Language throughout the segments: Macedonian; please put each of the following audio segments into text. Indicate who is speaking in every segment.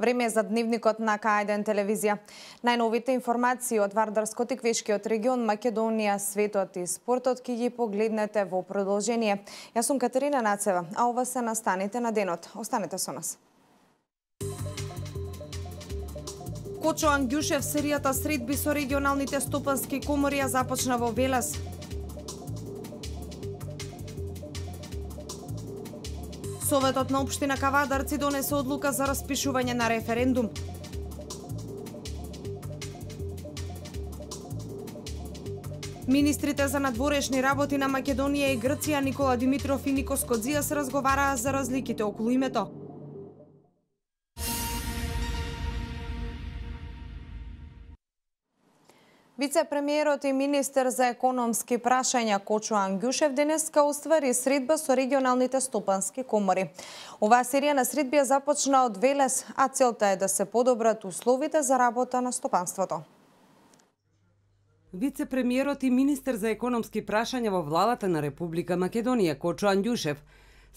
Speaker 1: Време за дневникот на К1 телевизија. Најновите информации од Вардарскот и Квешкиот регион, Македонија, светот и спортот ќе ги погледнете во продолжение. Јас сум Катерина Нацева, а ова се настаните на денот. Останете со нас. Кочо Ангјушев, серијата средби со регионалните стопански комори ја започна во Велес. Советот на општина Кавадарци донесе одлука за распишување на референдум. Министрите за надворешни работи на Македонија и Грција Никола Димитров и Никос Кодзијас разговараа за разликите околу името. Вице-премиерот и министер за економски прашања Кочо Ангјушев денеска оствари средба со регионалните стопански комори. Оваа серија на средби ја започна од Велес, а целта е да се подобрат условите за работа на стопанството.
Speaker 2: Вице-премиерот и министер за економски прашања во владата на Република Македонија Кочо Ангјушев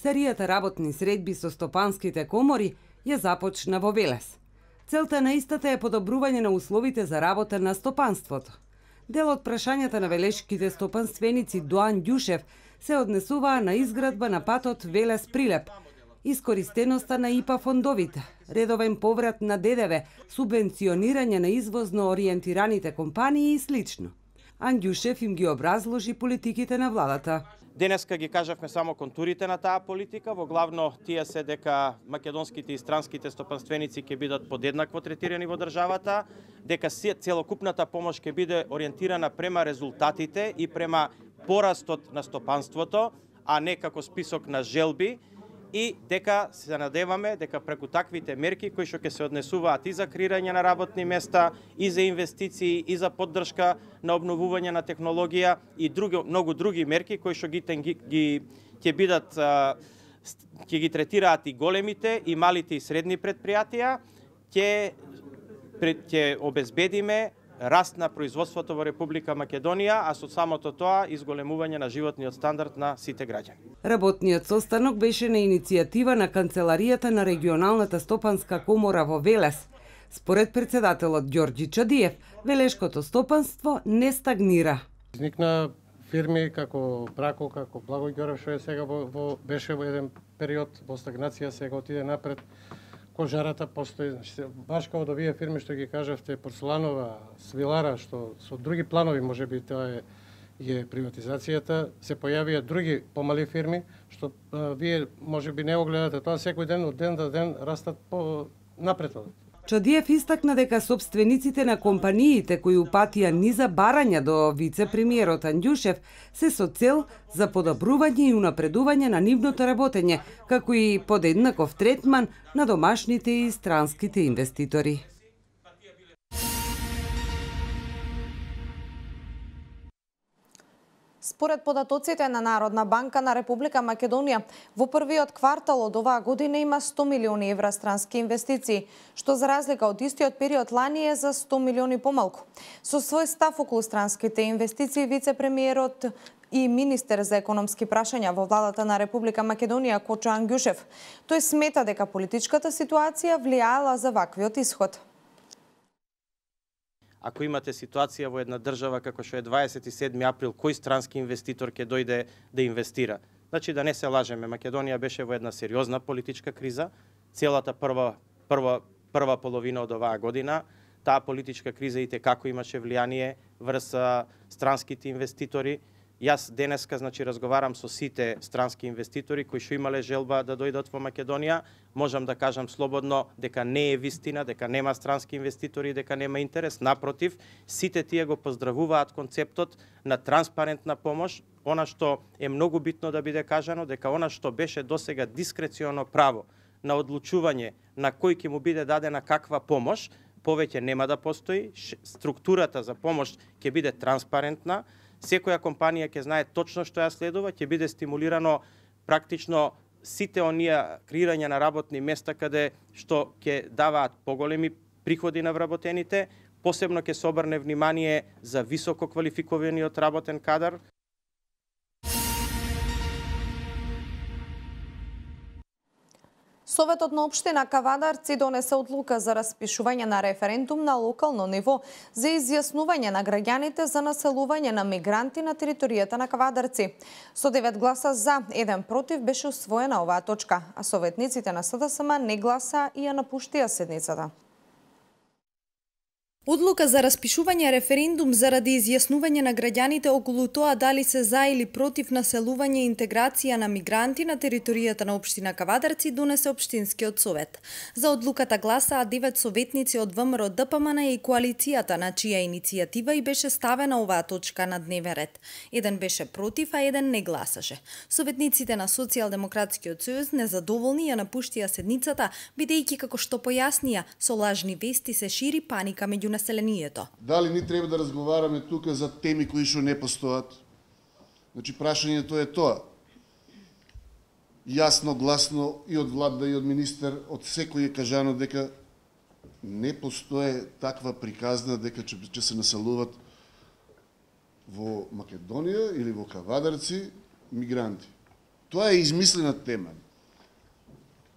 Speaker 2: серијата работни средби со стопанските комори ја започна во Велес. Целта на истата е подобрување на условите за работа на стопанството. Дел од прашањата на велешките стопанственици до Ангјушев се однесуваа на изградба на патот Велес-Прилеп, искористеноста на ИПА фондовите, редовен поврат на ДДВ, субвенционирање на извозно ориентираните компании и слично. Ангјушев им ги образложи политиките на владата.
Speaker 3: Денеска ги кажавме само контурите на таа политика, во главно тие се дека македонските и странските стопанственици ќе бидат подеднакво третирани во државата, дека целокупната помош ќе биде ориентирана према резултатите и према порастот на стопанството, а не како список на желби, и дека се надеваме дека преку таквите мерки кои што ќе се однесуваат и за креирање на работни места, и за инвестиции, и за поддршка на обновување на технологија и многу други мерки кои што ќе бидат ќе ги третираат и големите и малите и средни предпријатија, ќе обезбедиме раст на производството во Република Македонија, а со самото тоа изголемување на животниот стандард на сите граѓани.
Speaker 2: Работниот состанок беше на иницијатива на Канцеларијата на регионалната стопанска комора во Велес. Според председателот Ѓорѓи Чадиев, велешкото стопанство не стагнира.
Speaker 4: Изникна фирми како Брако, како Благој Ѓорев, што е сега беше во еден период во стагнација, сега отиде напред. Кожарата постои, баш како да вие фирми што ги кажавте, Порцеланова, Свилара, што со други планови можеби тоа е приватизацијата, се појавија други помали фирми, што вие можеби не го гледате тоа, секој ден од ден до ден растат напред.
Speaker 2: Чадиев истакна дека собствениците на компаниите кои упатија низа барања до вице-премиерот Ангјушев се со цел за подобрување и унапредување на нивното работење, како и подеднаков третман на домашните и странските инвеститори.
Speaker 1: Според податоците на Народна банка на Република Македонија, во првиот квартал од оваа година има 100 милиони евра странски инвестиции, што за разлика од истиот период лани е за 100 милиони помалку. Со свој став околу странските инвестиции, вице-премиерот и министер за економски прашања во владата на Република Македонија Кочо Ангјушев, тој смета дека политичката ситуација влијаела за ваквиот исход.
Speaker 3: Ако имате ситуација во една држава како што е 27 април, кој странски инвеститор ќе дојде да инвестира? Значи да не се лажеме, Македонија беше во една сериозна политичка криза, целата прва половина од оваа година. Таа политичка криза и како имаше влијание врз странските инвеститори. Јас денеска разговарам со сите странски инвеститори кои што имале желба да дојдат во Македонија. Можам да кажам слободно дека не е вистина, дека нема странски инвеститори, дека нема интерес. Напротив, сите тие го поздравуваат концептот на транспарентна помош. Она што е многу битно да биде кажано, дека она што беше досега дискреционо право на одлучување на кој ќе му биде дадена каква помош, повеќе нема да постои, структурата за помош ќе биде транспарентна, секоја компанија ќе знае точно што ја следува, ќе биде стимулирано практично сите оние креирање на работни места каде што ќе даваат поголеми приходи на вработените, посебно ќе се обрне внимание за високо квалификуваниот работен кадар.
Speaker 1: Советот на општина Кавадарци донесе одлука за распишување на референдум на локално ниво за изјаснување на граѓаните за населување на мигранти на територијата на Кавадарци. Со 9 гласа за, 1 против беше усвоена оваа точка, а советниците на СДСМ не гласа и ја напуштија седницата.
Speaker 5: Одлука за распишување референдум заради изјаснување на граѓаните околу тоа дали се за или против населување и интеграција на мигранти на територијата на општина Кавадарци донесе општинскиот совет. За одлуката гласаа 9 советници од ВМРО ДПМН и коалицијата, на чија иницијатива и беше ставена оваа точка на дневен ред. Еден беше против, а еден не гласаше. Советниците на Социјалдемократскиот сојуз незадоволни ја напуштија седницата, бидејќи како што појаснија, со лажни вести се шири паника меѓу населението.
Speaker 6: Дали ни треба да разговараме тука за теми кои што не постојат? Значи, прашањето е тоа. Јасно, гласно и од влада и од министер, од секој е кажано дека не постои таква приказна дека ќе се населуват во Македонија или во Кавадарци мигранти. Тоа е измислена тема.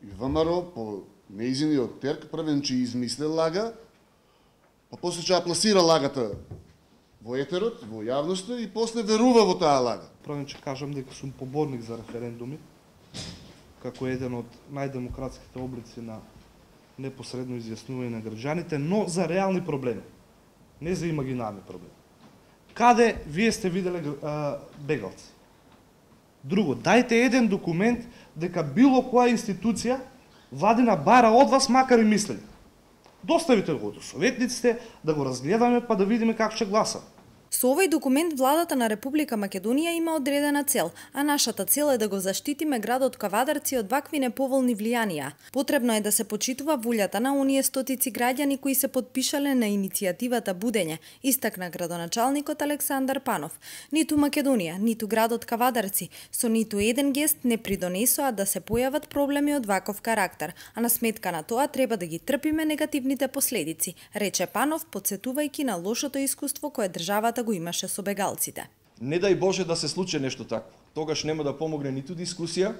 Speaker 6: И ВМРО по неизиниот терк првен че измисле лага, па после ќе ја пласира лагата во етерот, во јавноста и после верува во таа лага.
Speaker 7: Првен ќе кажам дека сум поборник за референдуми, како еден од најдемократските облици на непосредно изјаснување на граѓаните, но за реални проблеми, не за имагинарни проблеми. Каде вие сте виделе бегалци? Друго, дајте еден документ дека било која институција владина бара од вас макар и мислење. Доставите го до советниците, да го разгледаме, па да видиме как ќе гласа.
Speaker 5: Со овој документ владата на Република Македонија има одредена цел, а нашата цел е да го заштитиме градот Кавадарци од вакви неповолни влијанија. Потребно е да се почитува волјата на оние стотици граѓани кои се потпишале на иницијативата Будење, истакна градоначалникот Александар Панов. Ниту Македонија, ниту градот Кавадарци со ниту еден гест не придонесоа да се појават проблеми од ваков карактер, а на сметка на тоа треба да ги трпиме негативните последици, рече Панов, потсетувајќи на лошото искуство кое државата го имаше со бегалците.
Speaker 8: Не дај Боже да се случи нешто такво. Тогаш нема да помогне ниту дискусија,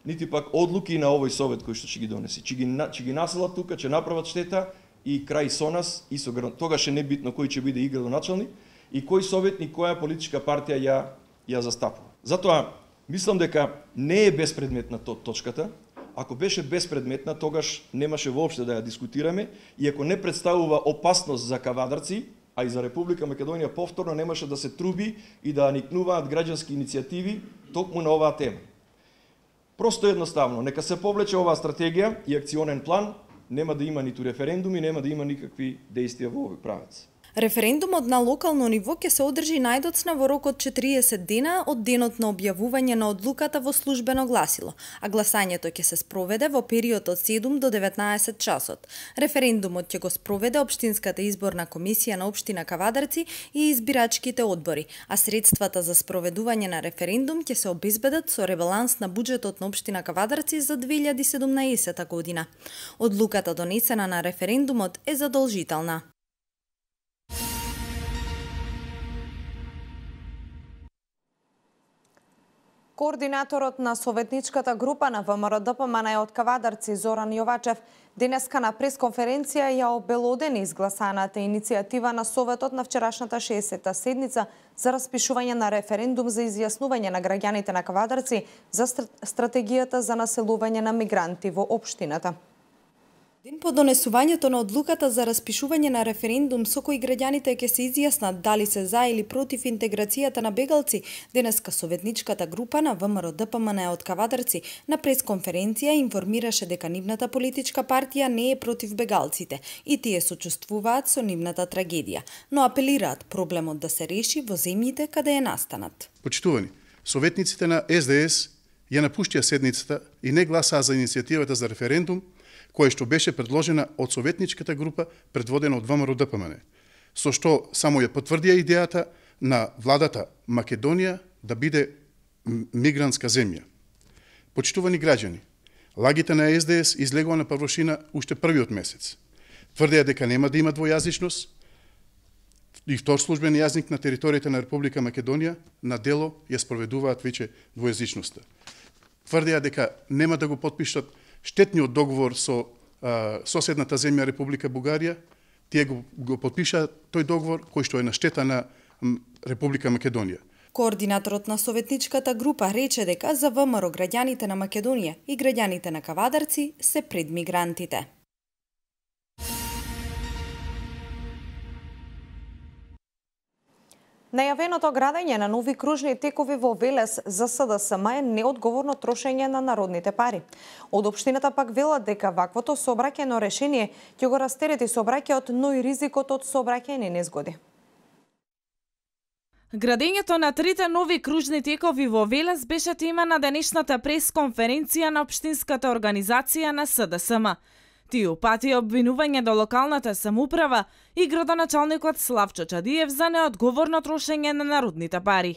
Speaker 8: нити пак одлуки на овој совет кој што ќе ги донеси. Ќе ги населат тука, ќе направат штета и крај со нас и со град. Тогаш е небитно кој ќе биде и градоначалник и кој советник, која политичка партија ја застапува. Затоа мислам дека не е безпредметна точката. Ако беше безпредметна, тогаш немаше воопште да ја дискутираме и ако не представува опасност за Кавадарци, а и за Република Македонија повторно немаше да се труби и да никнуваат граѓански иницијативи токму на оваа тема. Просто едноставно, нека се повлече оваа стратегија и акционен план, нема да има ниту референдуми, нема да има никакви действија во овој правец.
Speaker 5: Референдумот на локално ниво ќе се одржи најдоцна во рок од 40 дена од денот на објавување на одлуката во службено гласило, а гласањето ќе се спроведе во период од 7 до 19 часот. Референдумот ќе го спроведе Општинската изборна комисија на општина Кавадарци и избирачките одбори, а средствата за спроведување на референдум ќе се обезбедат со ребаланс на буџетот на општина Кавадарци за 2017 година. Одлуката донесена на референдумот е задолжителна.
Speaker 1: Координаторот на советничката група на ВМРО ДПМН од Кавадарци Зоран Јовачев денеска на пресконференција ја обелодени изгласаната иницијатива на Советот на вчерашната 60-та седница за распишување на референдум за изјаснување на граѓаните на Кавадарци за стратегијата за населување на мигранти во општината.
Speaker 5: Ден по донесувањето на одлуката за распишување на референдум со кој граѓаните ќе се изјаснат дали се за или против интеграцијата на бегалци, денеска советничката група на ВМРО ДПМН од Кавадарци на пресконференција информираше дека нивната политичка партија не е против бегалците и тие сочувствуваат со нивната трагедија, но апелираат проблемот да се реши во земјите каде е настанат.
Speaker 9: Почитувани, советниците на СДС ја напуштија седницата и не гласаа за иницијативата за референдум, која што беше предложена од советничката група предводена од ВМРО-ДПМН, со што само ја потврдија идејата на владата Македонија да биде мигрантска земја. Почитувани граѓани, лагите на СДС излегува на површина уште првиот месец. Тврдеа дека нема да има двојазичност и втор службен јазник на територијата на Република Македонија, на дело ја спроведуваат веќе двојазичноста. Тврдеа дека нема да го потпишат штетниот договор со соседната земја Република Бугарија. Тие го потпишаа тој договор кој што е на штета на Република Македонија.
Speaker 5: Координаторот на советничката група рече дека за ВМРО граѓаните на Македонија и граѓаните на Кавадарци се пред мигрантите.
Speaker 1: Најавеното градење на нови кружни текови во Велес за СДСМ е неодговорно трошење на народните пари. Од општината пак велат дека ваквото сообраќајно решение ќе го растерети сообраќајот, но и ризикот од сообраќајни незгоди.
Speaker 10: Градењето на трите нови кружни текови во Велес беше тема на денешната пресконференција на општинската организација на СДСМ. Тие упатија обвинување до локалната самоуправа и градоначалникот Славчо Чадиев за неодговорно трошење на народните пари.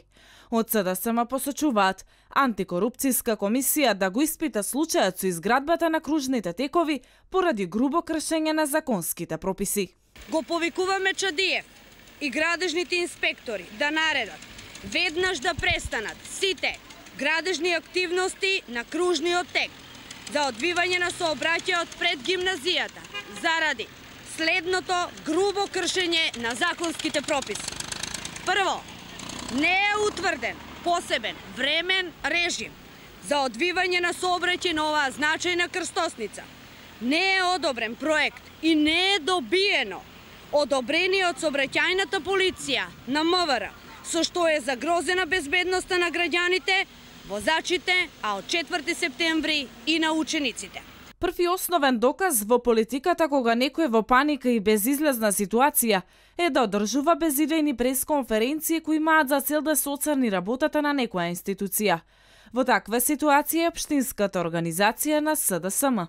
Speaker 10: Од СДСМ посочуваат антикорупцијска комисија да го испита случајот со изградбата на кружните текови поради грубо кршење на законските прописи.
Speaker 11: Го повикуваме Чадиев и градежните инспектори да наредат веднаш да престанат сите градежни активности на кружниот тек за одвивање на сообраќајот пред гимназијата заради следното грубо кршење на законските прописи. Прво, не е утврден посебен времен режим за одвивање на сообраќај на оваа значајна крстосница. Не е одобрен проект и не е добиено одобрение од сообраќајната полиција на МВР, со што е загрозена безбедноста на граѓаните, возачите, а од 4 септември и на учениците.
Speaker 10: Први основен доказ во политиката кога некој во паника и безизлезна ситуација е да одржува безидејни пресконференции кои имаат за цел да се оцрни работата на некоја институција. Во таква ситуација е општинската организација на СДСМ.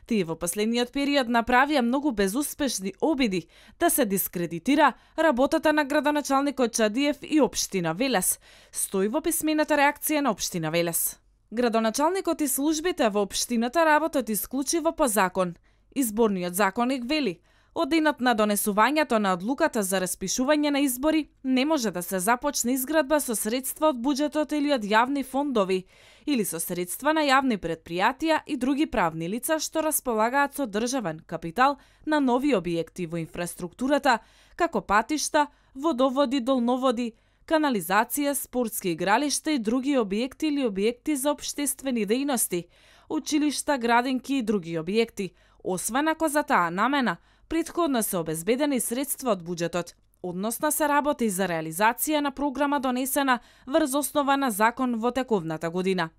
Speaker 10: Тие во последниот период направија многу безуспешни обиди да се дискредитира работата на градоначалникот Чадиев и општина Велес, стои во писмената реакција на општина Велес. Градоначалникот и службите во општината работат исклучиво по закон. Изборниот законник вели, од денот на донесувањето на одлуката за распишување на избори не може да се започне изградба со средства од буџетот или од јавни фондови, или со средства на јавни предпријатија и други правни лица што располагаат со државен капитал на нови објекти во инфраструктурата, како патишта, водоводи, долноводи, канализација, спортски игралишта и други објекти или објекти за општествени дејности, училишта, градинки и други објекти, освен ако за таа намена претходно се обезбедени средства од буџетот, односно се работи за реализација на програма донесена врз основа на закон во тековната година.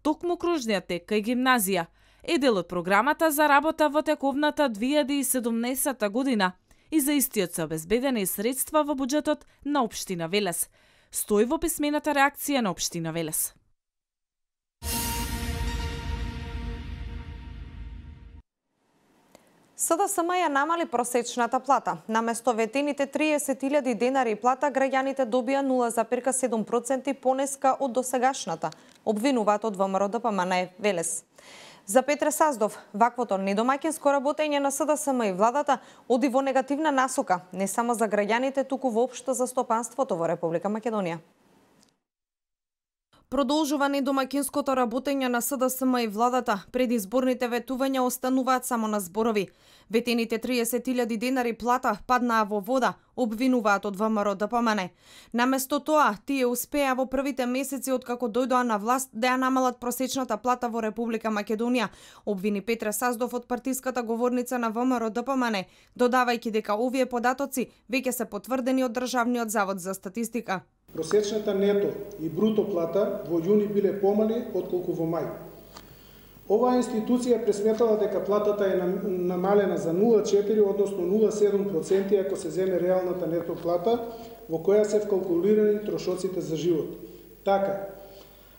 Speaker 10: Токму кружниот тек кај гимназија е дел од програмата за работа во тековната 2017 година и за истиот се обезбедени средства во буџетот на општина Велес, стои во писмената реакција на општина Велес.
Speaker 1: СДСМ ја намали просечната плата. Наместо ветените 30.000 денари плата, граѓаните добија 0,7% понеска од досегашната, обвинуваат од ВМРО-ДПМН Велес. За Петре Саздов, ваквото недомаќинско работење на СДСМ и владата оди во негативна насока, не само за граѓаните, туку воопшто за стопанството во Република Македонија. Продолжува недомаќинското работење на СДСМ и владата. Предизборните ветувања остануваат само на зборови. Ветените 30.000 денари плата паднаа во вода, обвинуваат од ВМРО-ДПМН. Наместо тоа, тие успеа во првите месеци откако дојдоа на власт да ја намалат просечната плата во Република Македонија, обвини Петре Саздов од партиската говорница на ВМРО-ДПМН, додавајќи дека овие податоци веќе се потврдени од Државниот завод за статистика.
Speaker 12: Просечната нето и бруто плата во јуни биле помали отколку во мај. Оваа институција пресметала дека платата е намалена за 0,4, односно 0,7% ако се земе реалната нето плата, во која се вкалкулирани трошоците за живот. Така,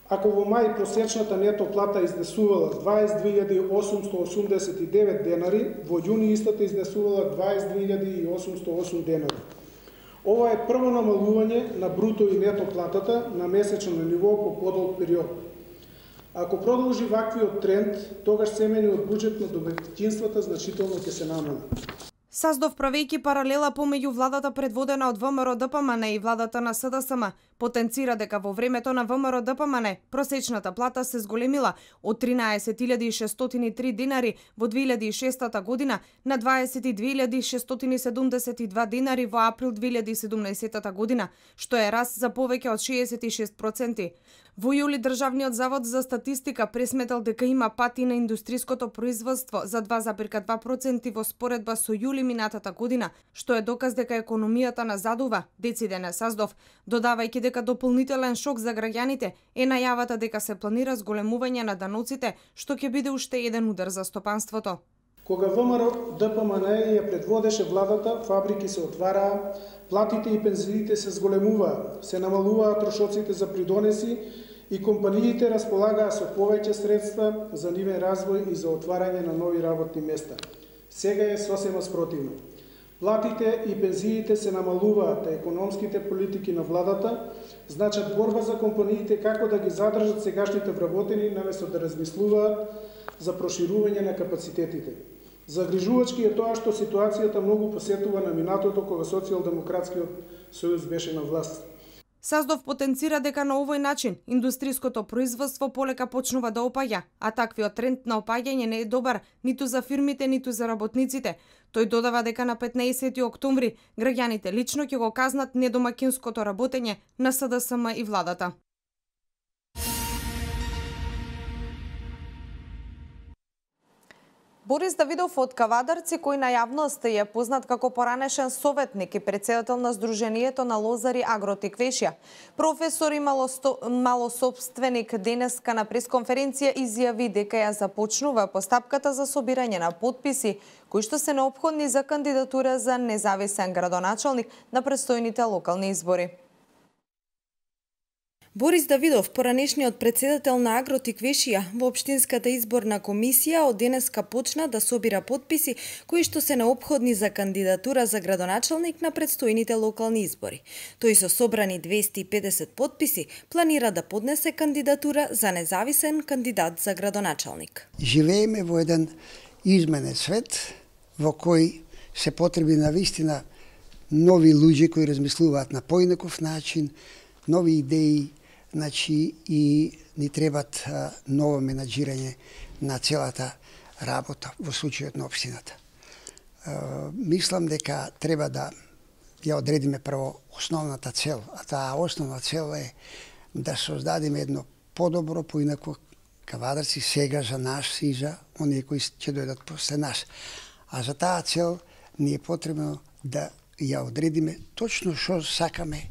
Speaker 12: Ако во мај просечната нето плата изнесувала 22.889 денари, во јуни истата изнесувала 22.808 денари. Ова е прво намалување на бруто и нето платата на месечно ниво по подолг период. Ако продолжи ваквиот тренд, тогаш семениот буџет на домаќинствата значително ќе се намали.
Speaker 1: Саздов, правејќи паралела помеѓу владата предводена од ВМРО-ДПМН и владата на СДСМ, потенцира дека во времето на ВМРО-ДПМН просечната плата се зголемила од 13.603 денари во 2006 година на 22.672 денари во април 2017 година, што е раст за повеќе од 66%. Во јули Државниот завод за статистика пресметал дека има пати на индустриското производство за 2,2% во споредба со јули минатата година, што е доказ дека економијата назадува, дециде на Саздов, додавајќи дека дополнителен шок за граѓаните е најавата дека се планира зголемување на даноците, што ќе биде уште еден удар за стопанството.
Speaker 12: Кога ВМРО-ДПМН ја предводеше владата, фабрики се отвараа, платите и пензиите се зголемуваа, се намалуваа трошоците за придонеси и компаниите располагаа со повеќе средства за нивен развој и за отварање на нови работни места. Сега е сосема спротивно. Платите и пензиите се намалуваат, а економските политики на владата значат борба за компаниите како да ги задржат сегашните вработени, наместо да размислуваат за проширување на капацитетите. Загрижувачки е тоа што ситуацијата многу посетува на минатото кога Социјалдемократскиот сојуз беше на власт.
Speaker 1: Саздов потенцира дека на овој начин индустриското производство полека почнува да опаѓа, а таквиот тренд на опаѓање не е добар ниту за фирмите, ниту за работниците. Тој додава дека на 15 октомври граѓаните лично ќе го казнат недомаќинското работење на СДСМ и владата. Борис Давидов од Кавадарци, кој на јавност е познат како поранешен советник и претседател на Сдруженијето на лозари Агротик Вешја. Професор и малособственик денеска на пресконференција изјави дека ја започнува постапката за собирање на потписи, кои што се неопходни за кандидатура за независен градоначалник на предстојните локални избори.
Speaker 5: Борис Давидов, поранешниот претседател на Агротик Вешија, во Општинската изборна комисија од денеска почна да собира потписи кои што се неопходни за кандидатура за градоначалник на предстојните локални избори. Тој со собрани 250 потписи планира да поднесе кандидатура за независен кандидат за градоначалник.
Speaker 13: Живееме во еден изменет свет во кој се потреби навистина нови луѓе кои размислуваат на поинаков начин, нови идеи, значи и ни требат ново менаџирање на целата работа во случајот на општината. Мислам дека треба да ја одредиме прво основната цел, а таа основна цел е да создадеме едно подобро, поинако Кавадарци сега за нас и за оние кои ќе дојдат после нас. А за таа цел ни е потребно да ја одредиме точно што сакаме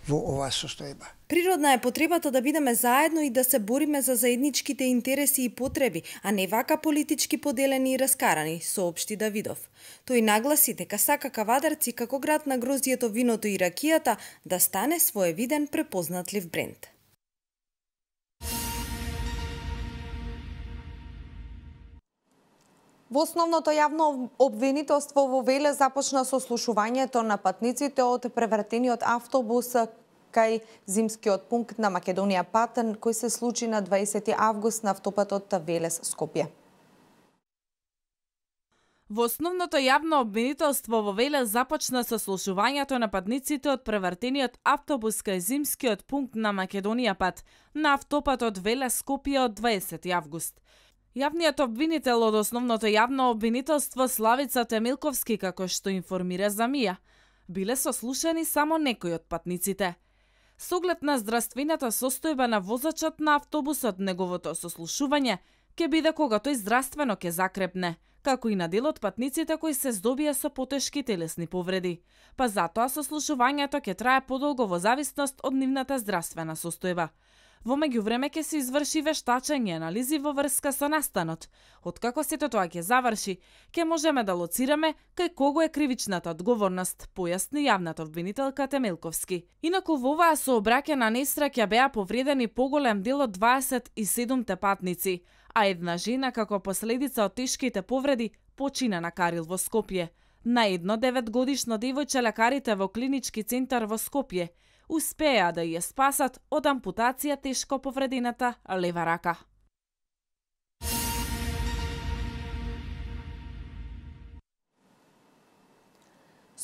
Speaker 13: во оваа состојба.
Speaker 5: Природна е потребата да бидеме заедно и да се бориме за заедничките интереси и потреби, а не вака политички поделени и раскарани, соопшти Давидов. Тој нагласи дека сака Кавадарци како град на грозјето, виното и ракијата да стане своевиден препознатлив бренд.
Speaker 1: Во основното јавно обвинителство во Велес започна сослушувањето на патниците од превратениот автобус кај зимскиот пункт на Македонија Патен, кој се случи на 20 август на автопатот Велес Скопје.
Speaker 10: Во основното јавно обвинителство во Велес започна сослушувањето на патниците од превратениот автобус кај зимскиот пункт на Македонија Пат на автопатот Велес Скопје од 20 август. Јавниот обвинител од основното јавно обвинителство Славица Темилковски, како што информира за МИА, биле сослушани само некои од патниците. С оглед на здравствената состојба на возачот на автобусот, неговото сослушување ќе биде кога тој здравствено ќе закрепне, како и на дел од патниците кои се здобија со потешки телесни повреди. Па затоа сослушувањето ќе трае подолго во зависност од нивната здравствена состојба. Во меѓувреме ќе се изврши вештачење и анализи во врска со настанот. Откако сето тоа ќе заврши, ќе можеме да лоцираме кај кого е кривичната одговорност, појасни јавната обвинителка Темелковски. Инаку во оваа сообраќајна несреќа беа повредени поголем дел од 27 патници, а една жена како последица од тешките повреди почина на Карил во Скопје. На едно 9-годишно девојче лекарите во клинички центар во Скопје успеа да ја спасат од ампутација тешко повредената лева рака.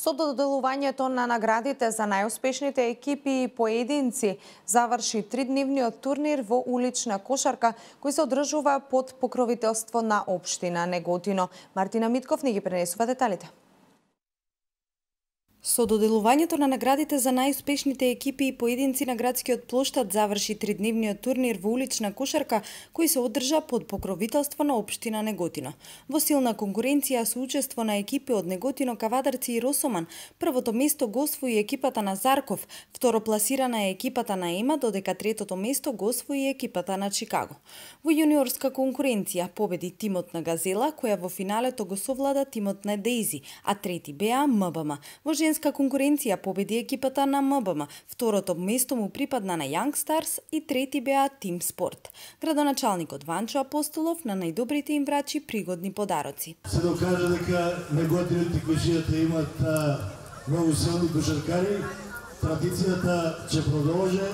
Speaker 1: Со доделувањето на наградите за најуспешните екипи и поединци заврши 3-дневниот турнир во улична кошарка кој се одржува под покровителство на општина Неготино. Мартина Митков ни ги пренесува деталите.
Speaker 5: Со доделувањето на наградите за најуспешните екипи и поединци на градскиот плоштад заврши 3-дневниот турнир во улична кошарка кој се одржа под покровителство на општина Неготино. Во силна конкуренција со учество на екипи од Неготино, Кавадарци и Росоман, првото место го освои екипата на Зарков, второпласирана е екипата на Ема, додека третото место го освои екипата на Чикаго. Во јуниорска конкуренција победи тимот на Газела, која во финалето го совлада тимот на Дейзи, а трети беа МБМ. Во женска конкуренција победи екипата на МБМ, второто место му припадна на Young Stars и трети беа Тим Спорт. Градоначалникот Ванчо Апостолов на најдобрите им врачи пригодни подароци.
Speaker 14: Се докажа дека Неготините кошијата имат многу силни кошаркари, традицијата ќе продолжи.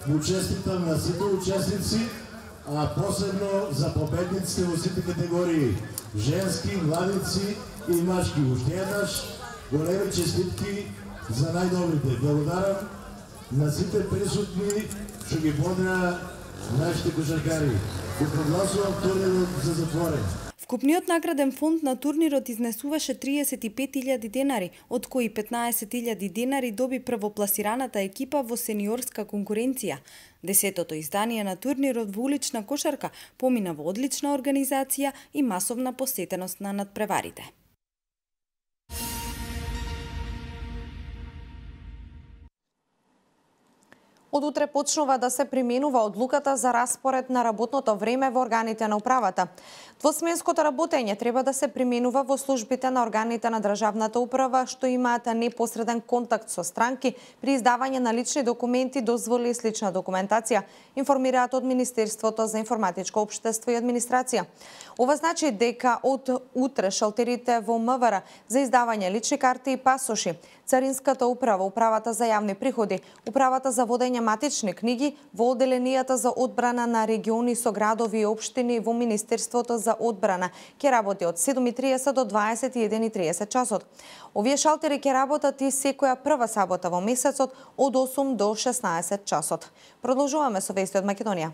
Speaker 14: Му честитам на сите учесници, а посебно за победниците во сите категории женски, младици и машки. Уште еднаш големи честитки за најдобрите. Благодарам на сите присутни што ги бодра нашите кошаркари. Го прогласувам турнирот за затворен.
Speaker 5: Вкупниот награден фонд на турнирот изнесуваше 35.000 денари, од кои 15.000 денари доби првопласираната екипа во сениорска конкуренција. 10-тото издание на турнирот во улична кошарка помина во одлична организација и масовна посетеност на надпреварите.
Speaker 1: Од утре почнува да се применува одлуката за распоред на работното време во органите на управата. Двосменското работење треба да се применува во службите на органите на државната управа што имаат непосреден контакт со странки при издавање на лични документи, дозволи и слична документација, информираат од Министерството за информатичко општество и администрација. Ова значи дека од утре шалтерите во МВР за издавање лични карти и пасоши, Царинската управа, Управата за јавни приходи, Управата за водење матични книги, во одделенијата за одбрана на региони со градови и општини во Министерството за одбрана ќе работи од 7:30 до 21:30 часот. Овие шалтери ќе работат и секоја прва сабота во месецот од 8 до 16 часот. Продолжуваме со вести од Македонија.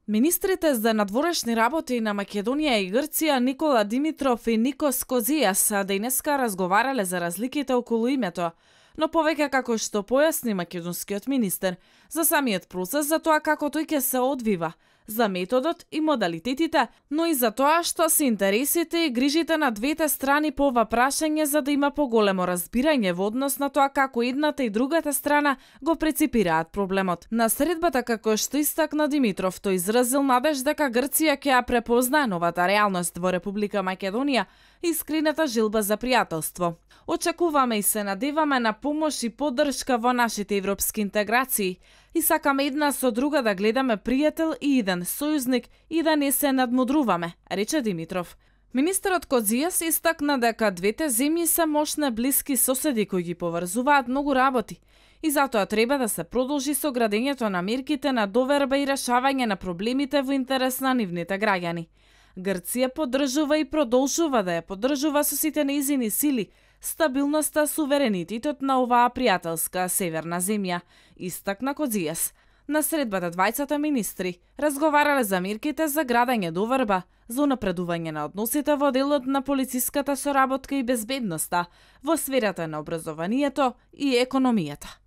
Speaker 10: Министрите за надворешни работи на Македонија и Грција Никола Димитров и Никос Козијас денеска разговарале за разликите околу името, но повеќе како што појасни македонскиот министер за самиот процес, за тоа како тој ќе се одвива, за методот и модалитетите, но и за тоа што се интересите и грижите на двете страни по ова прашање за да има поголемо разбирање во однос на тоа како едната и другата страна го преципираат проблемот. На средбата, како што истакна Димитров, тој изразил надеж дека Грција ќе ја препознае новата реалност во Република Македонија и искрената желба за пријателство. Очекуваме и се надеваме на помош и поддршка во нашите европски интеграции и сакаме една со друга да гледаме пријател и еден сојузник и да не се надмудруваме, рече Димитров. Министерот Козијас истакна дека двете земји се мощни блиски соседи кои ги поврзуваат многу работи и затоа треба да се продолжи со градењето на мерките на доверба и решавање на проблемите во интерес на нивните граѓани. Грција поддржува и продолжува да ја поддржува со сите нејзини сили стабилноста, суверенитетот на оваа пријателска северна земја, истакна Козијас. На средбата двајцата министри разговарале за мерките за градење доверба, за унапредување на односите во делот на полициската соработка и безбедноста, во сферата на образованието и економијата.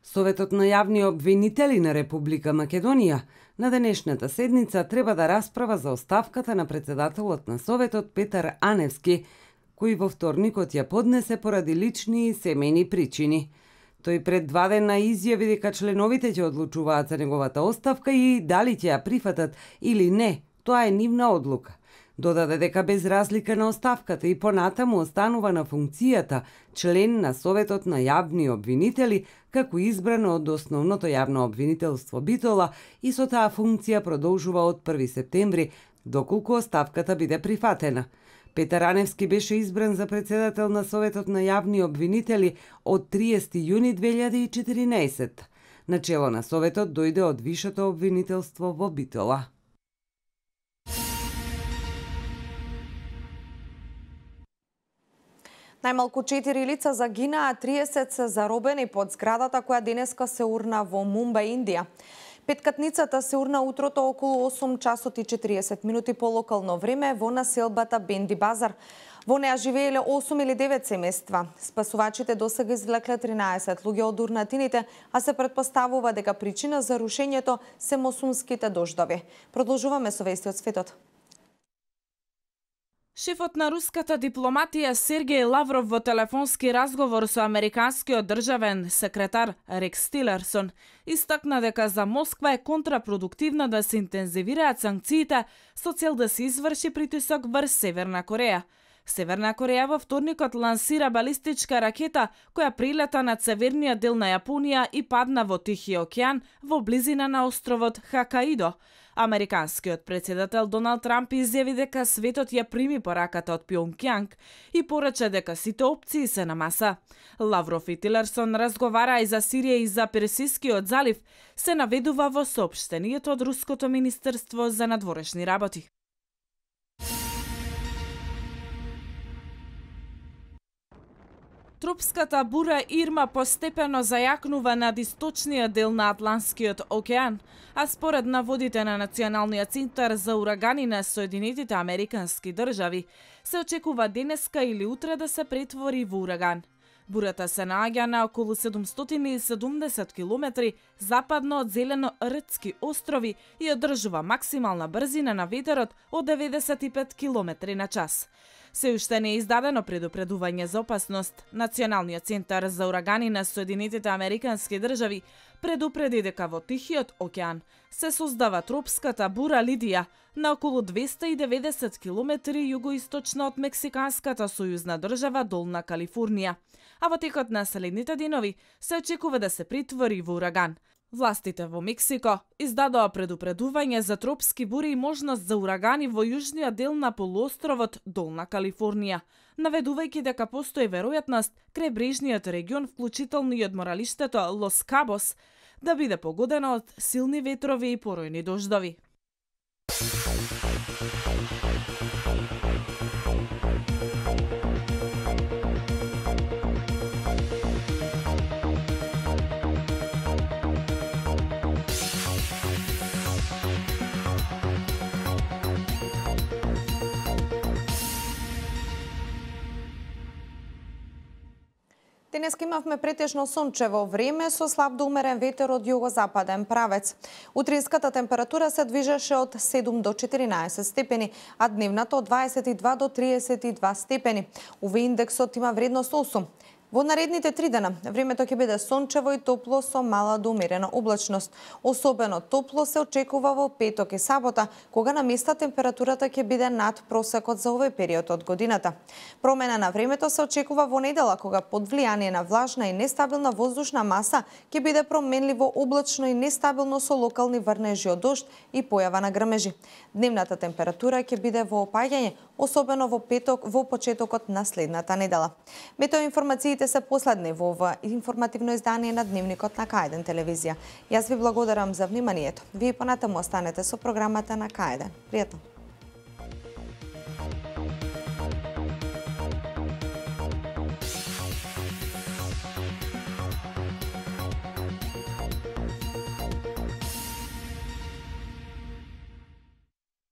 Speaker 2: Советот на јавни обвинители на Република Македонија на денешната седница треба да расправа за оставката на председателот на Советот Петар Аневски, кој во вторникот ја поднесе поради лични и семејни причини. Тој пред 2 дена изјави дека членовите ќе одлучуваат за неговата оставка и дали ќе ја прифатат или не, тоа е нивна одлука. Додаде дека без разлика на оставката и понатаму останува на функцијата член на Советот на јавни обвинители, како избран од основното јавно обвинителство Битола и со таа функција продолжува од 1 септември, доколку оставката биде прифатена. Петар Аневски беше избран за председател на Советот на јавни обвинители од 30 јуни 2014. Начело на Советот дојде од Вишето обвинителство во Битола.
Speaker 1: Најмалку 4 лица загинаа, 30 се заробени под зградата која денеска се урна во Мумбај, Индија. Петкатницата се урна утрото околу 8 часот и 40 минути по локално време во населбата Бенди Базар. Во неа живееле 8 или 9 семејства. Спасувачите досега извлекле 13 луѓе од урнатините, а се претпоставува дека причина за рушењето се монсунските дождови. Продолжуваме со вести од светот.
Speaker 10: Шефот на руската дипломатија Сергеј Лавров во телефонски разговор со американскиот државен секретар Рекс Тилерсон истакна дека за Москва е контрапродуктивно да се интензивираат санкциите со цел да се изврши притисок врз Северна Кореја. Северна Кореја во вторникот лансира балистичка ракета која прилета над северниот дел на Јапонија и падна во Тихиот океан во близина на островот Хокаидо. Американскиот председател Доналд Трамп изјави дека светот ја прими пораката од Пјонгјанг и порача дека сите опции се на маса. Лавров и Тилерсон разговара и за Сирија и за Персискиот залив, се наведува во соопштението од Руското министерство за надворешни работи. Тропската бура Ирма постепено зајакнува над источниот дел на Атлантскиот океан, а според наводите на Националниот центар за урагани на Соединетите Американски држави, се очекува денеска или утре да се претвори во ураган. Бурата се наоѓа на околу 770 километри западно од Зелено-Ртски острови и одржува максимална брзина на ветерот од 95 километри на час. Се уште не е издадено предупредување за опасност. Националниот центар за урагани на Соединетите Американски држави предупреди дека во Тихиот океан се создава тропската бура Лидија на околу 290 километри југоисточно од мексиканската сојузна држава Долна Калифорнија, а во текот на следните денови се очекува да се претвори во ураган. Властите во Мексико издадоа предупредување за тропски бури и можност за урагани во јужниот дел на полуостровот Долна Калифорнија, наведувајќи дека постои веројатност крајбрежниот регион, вклучително и одморалиштето Лос Кабос, да биде погодено од силни ветрови и поројни дождови.
Speaker 1: Денеска имавме претежно сончево време со слаб до умерен ветер од југозападен правец. Утринската температура се движеше од 7 до 14 степени, а дневната од 22 до 32 степени. Овој индексот има вредност 8. Во наредните 3 дена времето ќе биде сончево и топло со мала до умерена облачност. Особено топло се очекува во петок и сабота, кога на места температурата ќе биде над просекот за овој период од годината. Промена на времето се очекува во недела, кога под влијание на влажна и нестабилна воздушна маса ќе биде променливо облачно и нестабилно со локални врнежи од дожд и појава на грмежи. Дневната температура ќе биде во опаѓање, особено во петок во почетокот на следната недела. Метеоинформациите се последни во ова информативно издание на Дневникот на К1 телевизија. Јас ви благодарам за вниманието. Вие понатаму останете со програмата на К1. Пријатно!